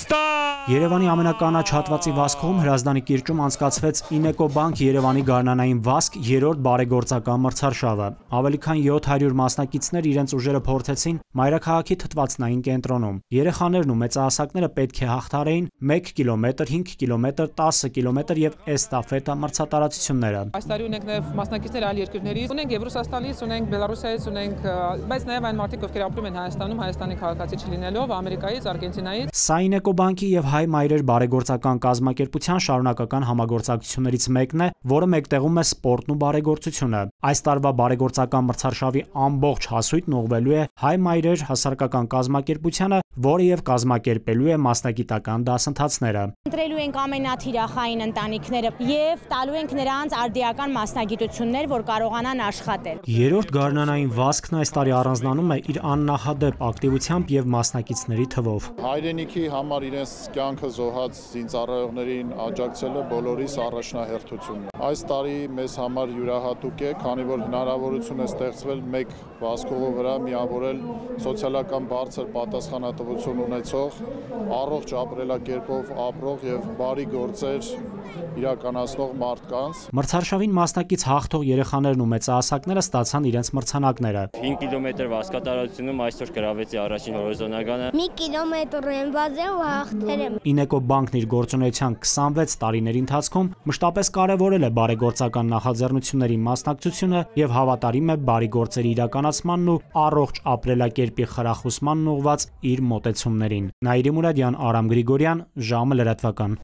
Երևանի ամենականաչ հատվածի վազքում Հրազդանի կիրճում անցկացվեց Ինեկոբանք Երևանի գարնանային վազք 3-րդ բարեգործական մրցարշավը։ Ավելի քան 700 մասնակիցներ իրենց ուժերը փորձեցին մայրաքաղաքի թթվածնային կենտրոնում։ Երեխաներն ու մեծահասակները պետք է հաղթահարեին 1 կիլոմետր, 5 կիլոմետր, 10 կիլոմետր եւ էստաֆետա մրցատարածությունները։ Այս տարի ունենք նաեւ մասնակիցներ այլ երկրներից, ունենք եւ Ռուսաստանից, ունենք Բելարուսից, ունենք, բայց նաեւ այն մարդիկ, ովքեր ապրում են Հայաստանում, Հայաստանի քաղաքացի չլինելով, Ամերիկայից, Արգենտինայից։ Սա Ինեկոբանկի եւ Հայ մայրեր բարեգործական կազմակերպության շարունակական համագործակցություններից մեկն է, որը մեկտեղում է սպորտն ու բարեգործությունը։ Այս տարվա բարեգործական մրցարշավի ամբողջ հասույթն ուղղվելու է Հայ մայրեր հասարակական կազմակերպությանը, որը եւ կազմակերպելու է մասնագիտական դասընթացները։ Ընտրելու ենք ամենաթիրախային ընտանիքները եւ տալու ենք նրանց արդիական մասնագիտություններ, որ կարողանան աշխատել։ 3-րդ գարնանային վազքն այս տարի առանձնանում է իր աննախադեպ ակտիվությամբ եւ մասնակիցների թվով։ Հայրենիքի համար իրենց կյանքը զոհած զինծառայողներին աջակցելը բոլորիս առաջնահերթությունն է։ Այս տարի մեզ համար յուրահատուկ է, քանի որ հնարավորություն է ստեղծվել մեկ վազքովի վրա միավորել սոցիալական բարձր պատասխանատվություն ունեցող, առողջ ապրելակերպով ապրող եւ բարի գործեր իրականացնող մարդկանց։ Մրցարշավին մասնակից հաղթող երեխաներն ու մեծահասակները ստացան իրենց մրցանակները։ 5 կիլոմետր վազկատարությունում այսօր գրավեցի առաջին հորիզոնականը։ 1 կիլոմետր եմ վազել ու հաղթել եմ։ Ինեկոբանկն իր գործունեության 26 տարիների ընթացքում մշտապես կարևորել է բարեգործական նախաձեռնությունների մասնակցությունը եւ հավատարիմ է բարի գործերի իրականացմանն ու առողջ ապրելակերպի խրախուսմանն ուղղված իր մոտեցումներին։ Նաիրի Մուրադյան, Արամ Գրիգորյան, ժամը լրատվական։